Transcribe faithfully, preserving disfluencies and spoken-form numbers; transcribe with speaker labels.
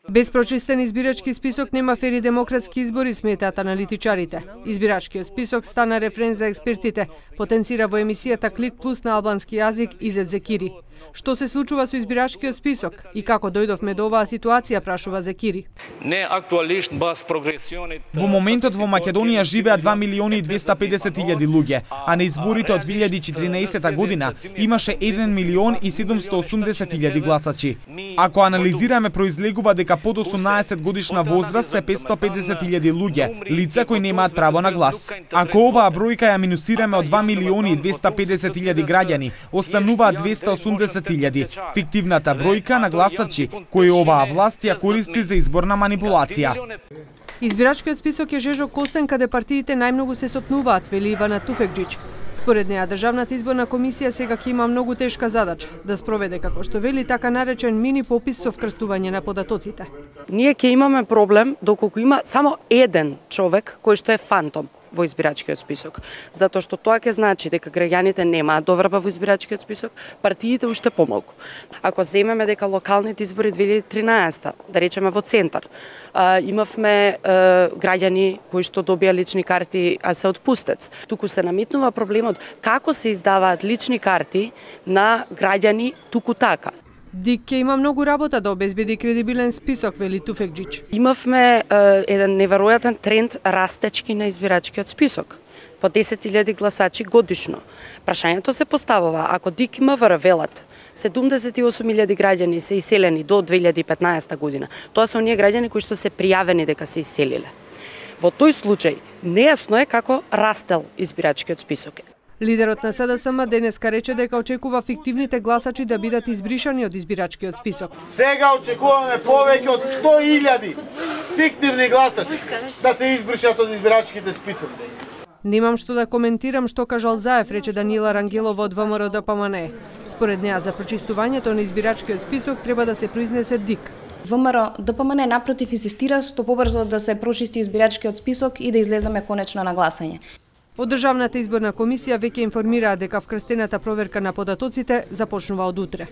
Speaker 1: Без прочистен избирачки список нема фери демократски избори, сметаат аналитичарите. Избирачкиот список стана рефрен за експертите, потенцира во емисијата Клик Плюс на албански јазик Изет Зекири. Што се случува со избирачкиот список и како дојдовме до оваа ситуација, прашува Зекири.
Speaker 2: Во моментот во Македонија живеат два милиони и двесте и педесет илјади луѓе, а на изборите од две илјади и четиринаесета година имаше еден милион и седумстотини и осумдесет илјади гласачи. Ако анализираме, произлегува дека под осумнаесет годишна возраст се петстотини и педесет илјади луѓе, лица кои немаат право на глас. Ако оваа бројка ја минусираме од два милиони и двесте и педесет илјади граѓани, остануваат двесте и осумдесет илјади, фиктивната бројка на гласачи кои оваа власт ја користи за изборна манипулација.
Speaker 1: Избирачкиот список е жежок костен каде партиите најмногу се сопнуваат, вели Ивана Туфекџиќ. Според неа, Државната изборна комисија сега ќе има многу тешка задача да спроведе, како што вели, така наречен мини попис со вкрстување на податоците.
Speaker 3: Ние ќе имаме проблем доколку има само еден човек кој што е фантом во избирачкиот список, затоа што тоа ќе значи дека граѓаните немаат доверба во избирачкиот список, партиите уште помалку. Ако земеме дека локалните избори две илјади и тринаесета, да речеме во центар, имавме граѓани кои што добија лични карти, а се отпустец. Туку се наметнува проблемот како се издаваат лични карти на граѓани туку така.
Speaker 1: ДИК ќе има многу работа да обезбеди кредибилен список, вели Туфекџиќ.
Speaker 3: Имавме е, еден неверојатен тренд растечки на избирачкиот список. По десет илјади гласачи годишно. Прашањето се поставува, ако ДИК и МВР велат седумдесет и осум илјади граѓани се иселени до две илјади и петнаесета година, тоа се оние граѓани кои што се пријавени дека се иселиле. Во тој случај, нејасно е како растел избирачкиот список.
Speaker 1: Лидерот на СДСМ денеска рече дека очекува фиктивните гласачи да бидат избришани од избирачкиот список.
Speaker 4: Сега очекуваме повеќе од сто илјади фиктивни гласачи да се избришат од избирачките списоци.
Speaker 1: Немам што да коментирам што кажал Заев, рече Даниела Рангелова од ВМРО ДПМНЕ. Според неа за прочистувањето на избирачкиот список треба да се произнесе ДИК.
Speaker 5: ВМРО ДПМНЕ напротив инсистира што побрзо да се прочисти избирачкиот список и да излеземе конечно на гласање.
Speaker 1: Од Државната изборна комисија веќе информираат дека вкрстената проверка на податоците започнува од утре.